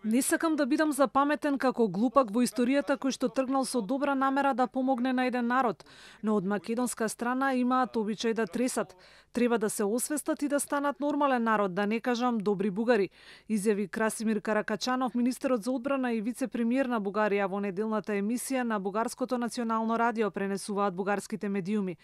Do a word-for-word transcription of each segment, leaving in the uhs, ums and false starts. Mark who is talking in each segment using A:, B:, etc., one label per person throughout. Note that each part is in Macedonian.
A: Не сакам да бидам запаметен како глупак во историјата кој што тргнал со добра намера да помогне на еден народ, но од македонска страна имаат обичај да тресат. Треба да се освестат и да станат нормален народ, да не кажам добри бугари, изјави Красимир Каракачанов, министерот за одбрана и вице-премиер на Бугарија во неделната емисија на Бугарското национално радио, пренесуваат бугарските медиуми.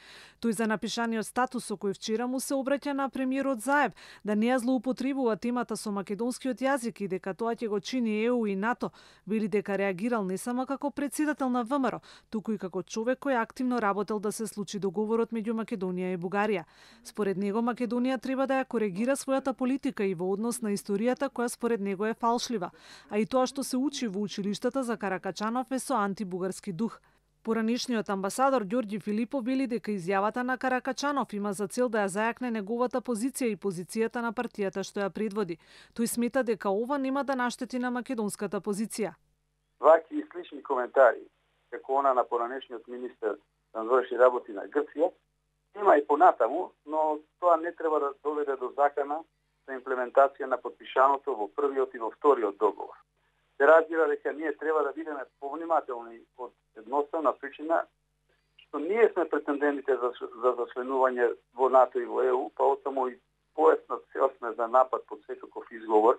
A: Тој за напишаниот статус со кој вчера му се обраќа на премиерот Заев да не ја злоупотребува темата со македонскиот јазик и дека тоа ќе го чини ЕУ и НАТО, вели дека реагирал не само како претседател на ВМРО, туку и како човек кој активно работел да се случи договорот меѓу Македонија и Бугарија. Според него Македонија треба да ја коригира својата политика и во однос на историјата која според него е фалшлива, а и тоа што се учи во училиштата за Каракачанов е со антибугарски дух. Поранешниот амбасадор Ѓорѓи Филипов вели дека изјавата на Каракачанов има за цел да ја зајакне неговата позиција и позицијата на партијата што ја предводи. Тој смета дека ова нема да наштети на македонската позиција.
B: Ваки и слични коментари, како она на поранешниот министер за външни работи на Грција, има и понатаму, но тоа не треба да доведе до закана за имплементација на подпишаното во првиот и во вториот договор. Се разбира дека ние треба да бидеме повнимателни од едноставна причина што ние сме претендентите за, за зачленување во НАТО и во ЕУ, па оттаму и појаснат цел сме за напад под секаков изговор.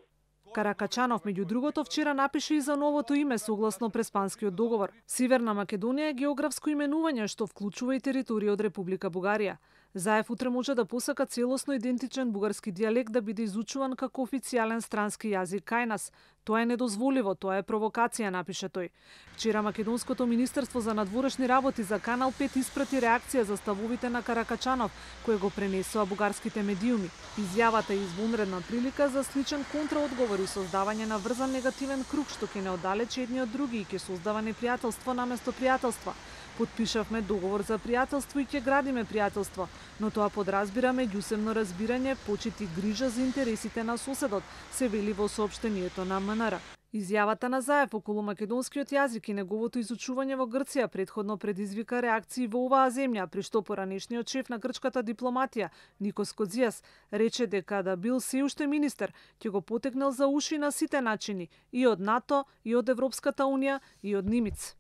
A: Каракачанов, меѓу другото, вчера напише и за новото име согласно Преспанскиот договор. Северна Македонија е географско именување што вклучува и територија од Република Бугарија. Заев утре може да посака целосно идентичен бугарски дијалект да биде изучуван како официјален странски јазик кај нас. Тоа е недозволиво, тоа е провокација, напише тој. Вчера Македонското министерство за надворешни работи за Канал пет испрати реакција за ставовите на Каракачанов, кој го пренесоа бугарските медиуми. Изјавата е извонредна прилика за сличен контраодговор и создавање на врзан негативен круг што ќе не оддалечи едни од други и ќе создава непријателство наместо пријателства. Потпишавме договор за пријателство и ќе градиме пријателство, но тоа подразбира меѓусебно разбирање, почит и грижа за интересите на соседот, се вели во соопштението на МНР. Изјавата на Заев околу македонскиот јазик и неговото изучување во Грција предходно предизвика реакции во оваа земја, при што поранешниот шеф на грчката дипломатија, Никос Кодзијас, рече дека да бил се уште министер, ќе го потекнал за уши на сите начини, и од НАТО, и од Европската унија, и од Нимиц.